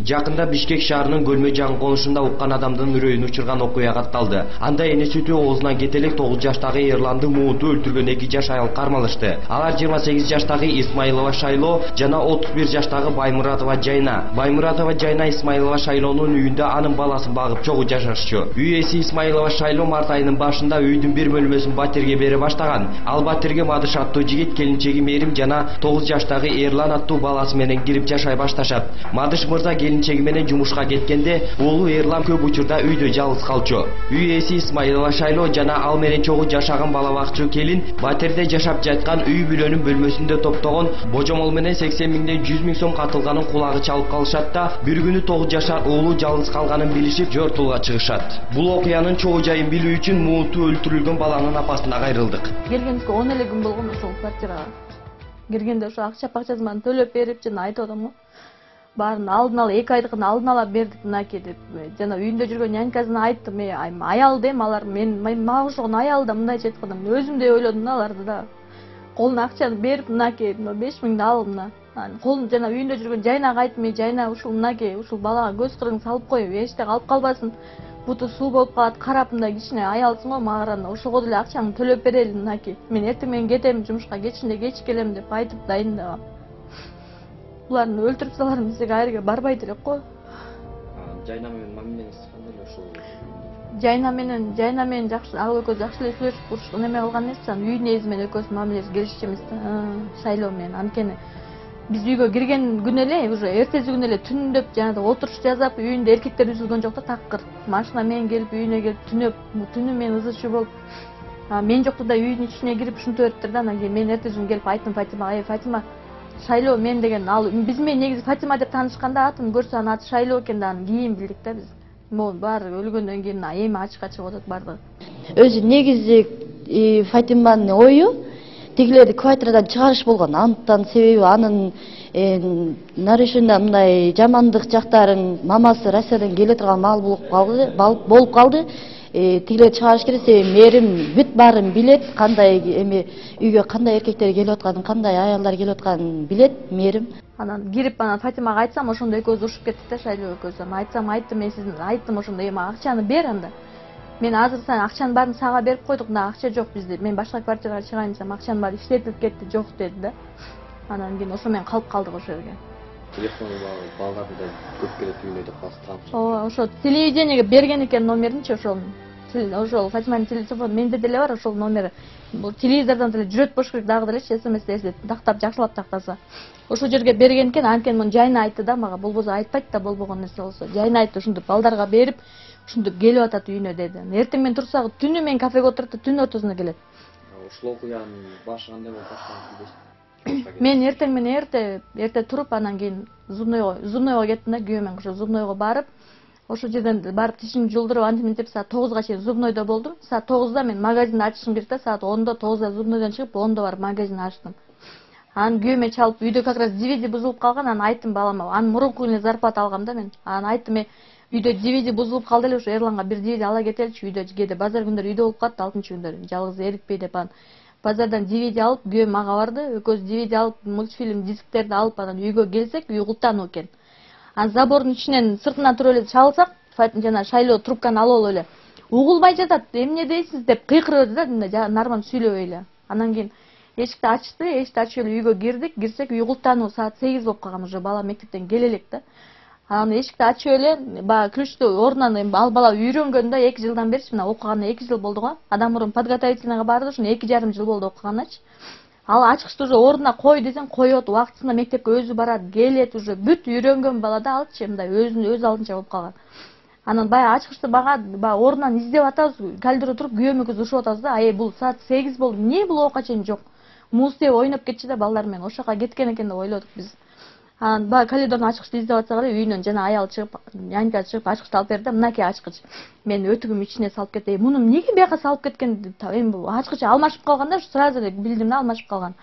Жакында Бишкек шаарынын Көлмө жаңы конушунда уккан адамдын үрөйүн учурган окуя катталды. Анда эне сүтү оозунан кетип элек 9 жаштагы Эрланды мууту өлтүргөн 2 жаш аял кармалышты. Алар 28 жаштагы Исмаилова Шайло жана 31 жаштагы Баймуратова Жайна. Баймуратова Жайна Исмаилова Шайлонун үйүндө анын баласын багып чогуу жашашчу. Үй ээси Исмаилова Шайло март айынын башында үйдүн бир бөлмөсүн батирге бере баштаган. Ал батирге Мадыш аттуу жигит, келинчеги Мерим жана 9 жаштагы Эрлан аттуу баласы менен кирип жашай башташат. Мадыш мырза келинчеги менен жумушка кеткенде уулу Эрлан көп учурда үйдө жалгыз калчу. Үй ээси Исмаилова Шайло жана ал менен чогуу жашаган бала бакчу келин батирде жашап жаткан үй бүлөнүн бөлмөсүндө топтогон божомол менен 80 миңден 100 миң сом катылганын кулагы чалып калышат да, бир күнү 9 жашар уулу жалгыз калганын билишип жортулга чыгышат. Бул окуянын чогуу жайын билүү үчүн мууту өлтүрүлгөн баланын апасына кайрылдык. Келгенибизге 10 эле күн болгон ошол квартирага. Киргенде ошо акчасын мана төлөп берип жана айтып атам го. Баарын алдын ала 2 айдыкын алдын ала бердик мынакей деп. Жана үйүндө жүргөн нянькасына айттым, аял дем алар мага окшогон аял да мындайча айтканда өзүм да ойлодум да аларды да. Колуна акчаны берип мынакей 5 миңди ал мына. Колун жана үйүндө жүргөн Жайнага айттым, Жайна ушул мынакей ушул балага көз кырын салып кой, эчте калып калбасын. Буту суу болуп калат, карап мындай кичине аялсың го, мага ошого деле акчаңды төлөп берели мынакей. Мен эртең менен кетем, жумушка кечинде кеч келем деп айтып дайындагам. Буларды өлтүрүп саларым десек айрге барбайт элек го. Жайна менен мамилеңиз кандай эле ошол? Жайна менен жакшы, ал экөөс жакшы эле сүйлөшүп курушуп неме кылган эмес, үй нээзи менен экөөс мамилеси келишчү эмес да. Шайлоо менен анткени биз үйгө кирген күнү эле, уже эртеси күнү эле түндөп жанагы отуруш жасап, үйүндө эркектер үзүлгөн жок да, такыр. Машина менен келип үйүнө келип түнөп, түнү мен ызычы болуп, мен жокту да үйдүн ичине кирип ушинтип бериптир да. Анан кийин мен эртеси күнү келип айттым Фатимага, Фатима, Шайлоо мен деген ал биз менен негизи Фатима деп таанышканда атын көрсө анын аты Шайлоо экен да, анан кийин билдик да биз. Могу баары өлгөндөн кийин эми ачыкка чыгып атат баардыгы. Өзү негизи Фатиманын ою тигилерди квартирадан чыгарыш болгон. Андан себеби анын нарушение мындай жамандык жактарын мамасы Россиядан келе турган маал болуп калды. Тигилерди чыгарыш керек, себеби Мерим бүт баарын билет, кандай эми үйгө кандай эркектер келип атканын, кандай аялдар келип атканын билет Мерим. Анан кирип анан Фатимага айтсам, ошондо экөөбүз урушуп кеттик да, Шайлоо экөөбүз. Анан айттым мен сиздин айттым ошондо, эми акчаны бер анда. Мен азыр сен акчанын баарын сага берип койдук, мына акча жок бизде. Мен башка квартирага чыгайын десем, акчанын баары иштетилип кетти, жок деди да. Анан кийин ошо менен калып калдык ошол жерге. Телефону балдарды да көп келет үйүнө деп калсам. Ооба, ошо телевидениеге берген экен номеринчи ошол Фатиманын телефону менде деле бар, ошол номери. Бул телевизордон деле жүрөт болуш керек дагы делечи, СМС тактап жакшылап тактаса. Ошол жерге берген экен, анткени муну Жайна айтты да мага, болбосо айтпайт да болбогон нерсе болсо. Жайна айтты, ушинтип балдарга берип, ушинтип келип атат үйүнө деди. Эртең менен турсак түнү мен кафеге отурат да түн ортосунда келет. Ушул окуянын башы кандай болуп баштаган? Мен эртең менен эрте туруп, анан кийин зубнойго кеттим да, күйөөм менен ошо зубнойго барып, ошол жерден барып тишимди жулдуруп антип саат 9га чейин зубнойдо болдум. Саат 9да мен магазинди ачышым керек да, саат 10до 9да зубнойдон чыгып, 10до барып магазинди ачтым. Анан күйөөмө чалып, үйдө как раз DVD бузулуп калган, анан айттым балама, анын мурунку эле зарплата алгам да мен. Анан айттым, үйдө DVD бузулуп калды эле, ошо Эрланга бир DVD ала кетеличи, үйдө кээде базар күндөрү үйдө болуп калат, 6-күндөр жалгыз эрикпей деп анан базардан DVD алып, күйөөм мага барды, экөөбүз DVD алып, мультфильм дисктерди алып, анан үйгө келсек, үй култануу экен. Анан забордун ичинен сыртынан туруп эле чалсак, жана Шайлоо трубканы алып эле угулбай жатат, эмне дейсиз деп кыйкырып да, нормально сүйлөбөй эле. Анан кийин эшикти ачты, эшикти ачып эле үйгө кирсек, үй култануу саат 8 болуп калган, уже бала мектептен келе элек да. Анан эшикти ачып эле, баягы ключту ордунан ал бала үйрөнгөн да, 2 жылдан берчи, мына окуганына 2 жыл болду го. Адам мурун подготовительныйга барды, ошону 2,5 жыл болду окуганычы. Ал ачкычты уже ордуна кой десең, коет, убактысында мектепке өзү барат, келет, уже бүт үйрөнгөн бала да алчы, мындай өз алдынча болуп калган. Анан баягы ачкычты баягы ордунан издеп атабыз, кальдыра туруп күйөөм экөөбүз урушуп атабыз да, бул саат 8 болду, эмне бул окка чейин жок. Муз деп ойноп кетчү да балдар менен, ошол жака кеткен экен деп ойлодук биз. Анан баягы коридордон ачкычты издеп атсак эле, үйүнөн жана аял чыгып, нянька чыгып ачкычты алып берди да, мынакей ачкыч. Мен өтүгүм ичине салып кетти. Муну эмнеге бияка салып кеткен? Эми бул ачкыч алмашып калган да, сразу эле билдим да алмашып калган.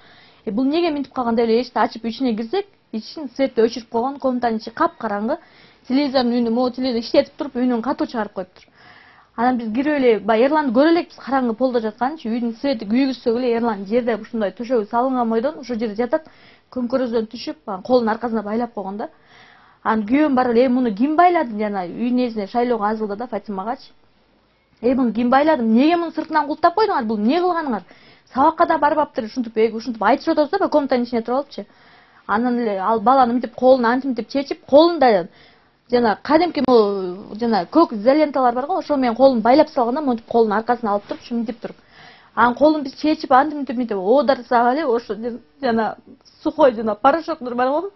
Бул эмнеге минтип калган деп эле эшикти ачып ичине кирсек, ичин светти өчүрүп койгон, комнатанын ичи капкараңгы. Телевизордун үнү, могу телевизор иштетип туруп, үнүн катуу чыгарып коюптур. Анан биз кирип эле, баягы Эрланды көрө элекпиз, караңгы полдо жатканчы, үйдүн свети күйгүзсөк эле Эрлан жерде ушундай төшөгү салынган бойдон ошол жерде жатат, көмкөрөздөн түшүп, колун аркасына байлап койгон да. Анан күйөөм барып эле муну ким байлады жана үйдүн ээсине шайлоого азылды да Фатимагачы. Муну ким байлады? Эмнеге муну сыртынан култап койдуңар? Бул эмне кылганыңар? Сабакка да барбаптыр, ушинтип айтышып атабыз да, комнатанын ичине туруп алыпчы. Анан эле ал баланы мынтип колун антип чечип, колунда жана кадимки жана көк изоленталар бар го, ошо менен колун байлап салганда монтип колунун аркасына алып туруп, мынтип туруп. Анан колун биз чечип антип оодарсак эле ошо жана сухой жана порошоктор бар го.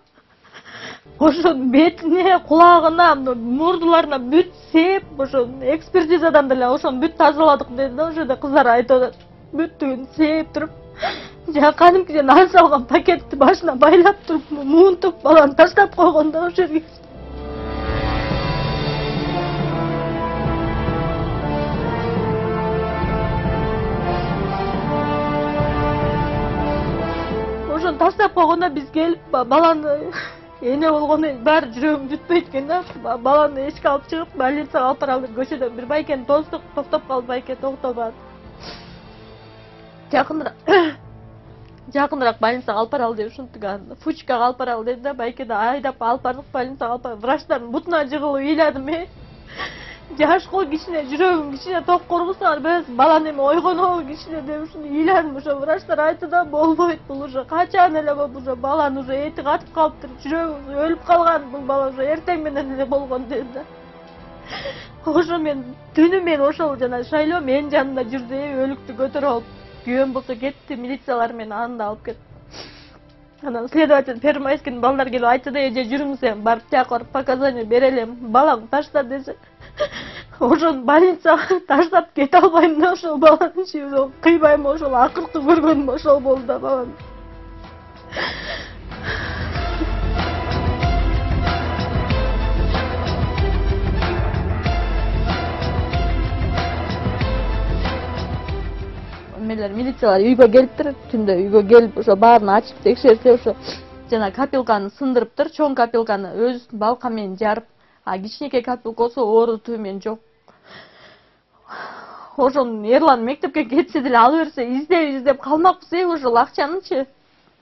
Ошо бетине, кулагына, мурдуларына бүт сеп, ошо экспертизадан деле ошону бүт тазаладык деди да, ошо кыздар айтып атат. Бүттүгүн сеп туруп, жана кадимки нан салган пакетти башына байлап туруп, муунтуп баланы таштап койгон да ошо жерге. Ошону таштап койгондо биз келип баланы эне болгондон кийин баары жүрөгүм бүтпөйт экен да. Баланы эшикке алып чыгып, больницага алып баралы деп көчөдө бир байкени тоздук, токтоп калды, байке токтобады. Жакыныраак больницага алып баралы деп ушинтип Фучкага алып баралы деди да, байке да айдап алып бардык больницага алып барып. Врачтардын бутуна жыгылып ыйладым. Жашко кичине, жүрөгүм кичине ток коргусаңар беребиз, баланы эме ойгонобу кичине деп ушуну ыйладым. Ошо врачтар айтты да, болбойт, бул уже качан эле болуп, уже баланы уже эти катып калыптыр, жүрөгү өлүп калган, бул бала уже эртең менен эле болгон деди да. Ошо мен түнү мен ошол жана шайлоо менин жанымда жүрдү, өлүктү көтөрүп алып. Күйөөм болсо кетти, милициялар мени анда алып кетти. Анан следователь Первомайскийдин балдар келип айтты да, эже жүрүңүз эми барып тияка барып показания берелем, балаңды ташта десе. Ошону больницага таштап кете албайм да, ошол баланын ошол кыйбайм, ошол акыркы көргөнүм ошол болду да баланы. Милициялар үйгө келиптир, түндө үйгө келип ошо баарын ачып текшерсе, ошо жана капелканы сындырыптыр, чоң капелканы өз балка менен жарып, кичинекей капелка болсо оорутуу менен жок. Ошону Эрлан мектепке кетсе деле ала берсе, издеп калмакпыз, ошол акчанычы.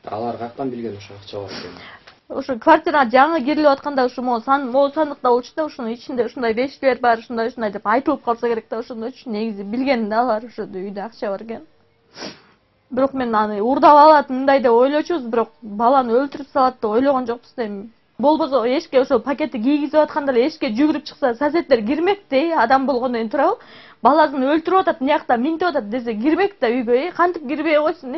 Алар каяктан билген ошо акча бар экенин? Ошо квартирага жаңы кирилип атканда ошо могу сандыкта болчу да, ошонун ичинде ушундай вещилер бар, ушундай деп айтылып калса керек да, ошондочу негизи билген да алар ошо үйдө акча бар экен. Бирок мен аны урдап алат мындай деп ойлочубуз, бирок баланы өлтүрүп салат деп ойлогон жокпуз да. Болбосо эшикке ошо пакетти кийгизип атканда эле эшикке жүгүрүп чыкса, соседтер кирмек да, адам болгондон кийин турабы? Баласын өлтүрүп атат, мынякта минтип атат десе кирмек да үйгө, кантип кирбей койсун,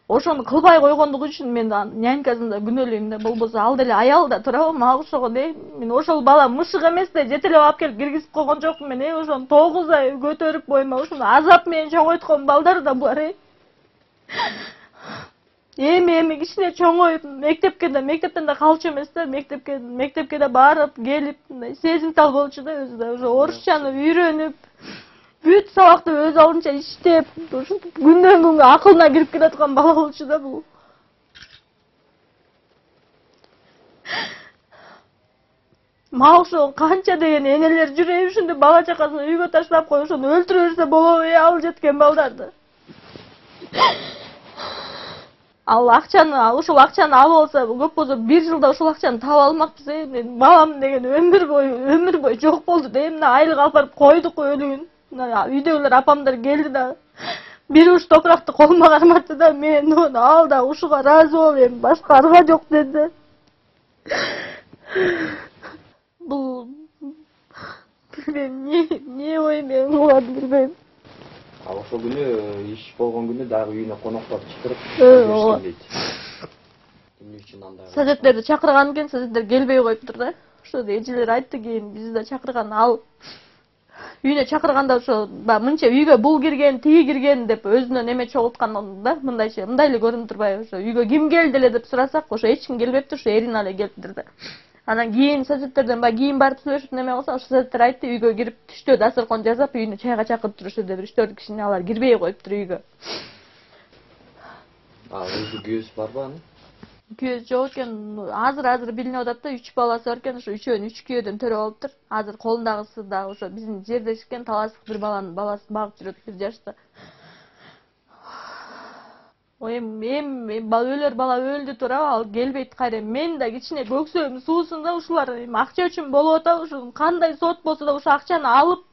Ошону кылбай койгондугу үчүн мен нянькасын да күнөөлөйм да, болбосо ал деле аял да турабы, мага окшогон, мен ошол бала мышык эмес да, жетелеп алып келип киргизип койгон жокмун мен, ошону 9 ай көтөрүп бойма, ошону азап менен чоңойткон балдар да бар, Эми кичине чоңоюп, мектептен да калчу эмес да, мектепке да барып, келип, сезимтал болчу да өзү да, уже орусчаны үйрөнүп, бүт сабакты өз алдынча иштеп, ушинтип күндөн күнгө акылына кирип келаткан бала болчу да бул. Мага ошо канча деген энелер жүрөбү, ушинтип бала чакасын үйгө таштап коюп, ошону өлтүрө берсе болобу, ал жеткен балдарды. Ал акчаны, ошол акчаны алып алса, көп болсо 1 жылда ошол акчаны таап алмакпыз, мен балам деген өмүр бою жок болду да, мына айлык алып барып койдук өлүгүн. Үйдөгүлөр апамдар келди да, бир уш топуракты колума карматты да, мен ону ал да ушуга ыраазы болуп, эми башка арга жок деди. Бул билбейм, эмне ойм мен кылганымды билбейм. Ошол күнү иш болгон күнү дагы үйүнө коноктор чакырып көрүшкөн дейт. Эмне үчүн андай? Соседтерди чакырган экен, соседтер келбей коюптур да. Ошо эжелер айтты, кийин бизди да чакырган, ал үйүнө чакырганда ошо мынча үйгө бул кирген, тиги кирген деп өзүнөн эме чогулткан да, мындай эле көрүнүп турбайбы? Ошо үйгө ким келди эле деп сурасак, ошо эч ким келбептир, ошо Эрина эле келиптир да. Анан кийин соседтерден кийин барып сүйлөшүп неме кылса, ошо соседтер айтты, үйгө кирип түштө дасыркон жасап, үйүнө чайга чакырып турушты деп, 3-4 кишини алар кирбей коюптур үйгө. Өзү күйөөсү барбы анын? Күйөөсү жок экен, азыр билинип атат да, 3 баласы бар экен, ошо үчөөнү 3 күйөөдөн төрөп алыптыр. Азыр колундагысы да ошо биздин жердеш экен, таластык бир баланын баласын багып жүрөт 1 жашта. өлөр бала өлдү туурабы, ал келбейт кайра. Мен да кичине көксөм суусунда ушулар акча үчүн болуп атабы, ушу кандай сот болсо да ушу акчаны алып,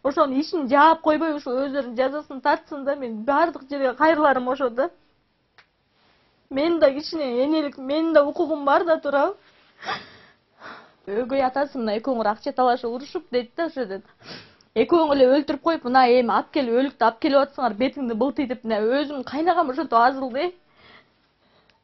ошонун ишин жаап койбой, ушу өздөрүнүн жазасын тартсын да, мен баардык жерге кайрыларым ошо да. Мен да кичине энелик, менин да укугум бар да туурабы. Өгөй атасы мына экөөңөр акча талашып урушуп дейт да, ошо дейт. Экөөң эле өлтүрүп коюп, мына эми алып келип өлүктү алып келип атсыңар, бетиңди былтыйтып, мына өзүм кайнагам ошентип азылды.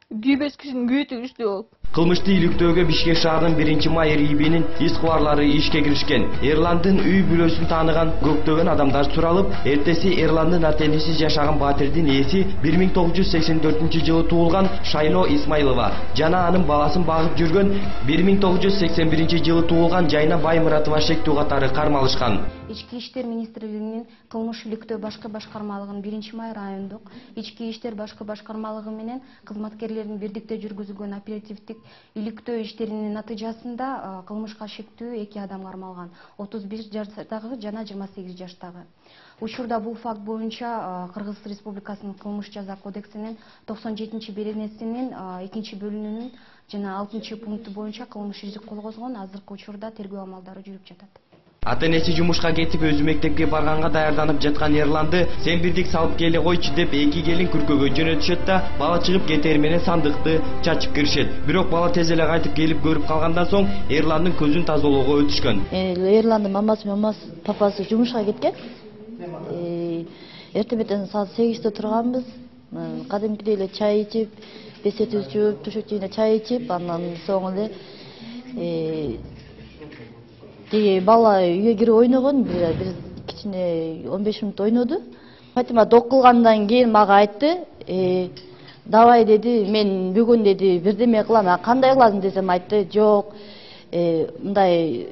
Күйбөс кишинин күйүтү күчтүү болуп. Кылмышты иликтөөгө Бишкек шаарынын 1-майыр ИИБ'нин иш-кубарлары ишке киришкен. Эрландын үй бүлөсүн тааныган көптөгөн адамдар суралып, эртеси Эрландын ата-энеси жашаган батирдин ээси 1984-жылы туулган Шайло Исмайлова жана анын баласын багып жүргөн 1981-жылы туулган Жайна Баймуратова шектүү катары кармалышкан. Ички иштер министрлигинин кылмыш иликтөө башкы башкармалыгынын 1-май райондук ички иштер башкы башкармалыгы менен кызматкерлердин бирдикте жүргүзүлгөн оперативдик иликтөө иштеринин натыйжасында кылмышка шектүү 2 адам кармалган. 31 жаштагы жана 28 жаштагы. Учурда бул факт боюнча Кыргыз Республикасынын кылмыш жаза кодексинин 97-беренесинин 2-бөлүнүнүн жана 6-пункту боюнча кылмыш иши козгонгон. Азыркы учурда тергөө амалдары жүрүп жатат. Ата-энеси жумушка кетип, өзү мектепке барганга даярданып жаткан Эрланды сен бирдик салып келе койчу деп 2 келин күркөгө жөнөтүшөт да, бала чыгып кетери менен сандыкты чачып киришет. Бирок бала тез эле кайтып келип көрүп калгандан соң Эрландын көзүн тазалоого өтүшкөн. Эрландын папасы жумушка кеткен. Эртең саат 8-те турганбыз. Кадимкидей эле чай ичип, бесет үзүп, төшөкчүнө чай ичип, андан соң эле бала үйгө кирип ойногон, бир кичине 15 мүнөт ойноду. Фатима док кылгандан кийин мага айтты, давай деди, мен бүгүн деди бирдеме кылам. Кандай кыласың десем айтты, жок, мындай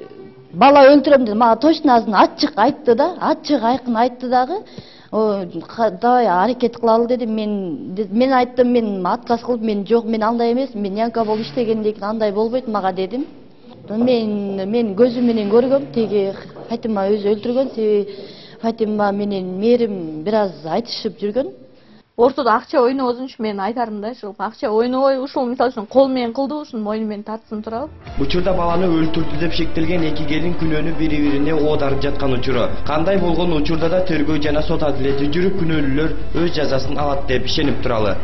бала өлтүрөм деди. Мага точно ачык айтты да, ачык айкын айтты дагы. Давай аракет кылалы деди. Мен айттым, мен отказ кылып, мен жок, мен андай эмес, мен янка болуп иштегенден кийин андай болбойт мага дедим. Мен көзүм менен көргөм, теги Фатима өзү өлтүргөн, себеби Фатима менен Мээрим бир аз айтышып жүргөн. Ортодо акча ойнобозун үчүн мен айтарым да, ушул акча ойнобой, ушул мисалы үчүн кол менен кылды, ушуну мойну менен тартсын туурабы. Учурда баланы өлтүрдү деп шектелген 2 келин күнөөнү бири-бирине оодарып жаткан учуру. Кандай болгон учурда да тергөө жана сот адилети жүрүп, күнөөлүүлөр өз жазасын алат деп ишенип туралы.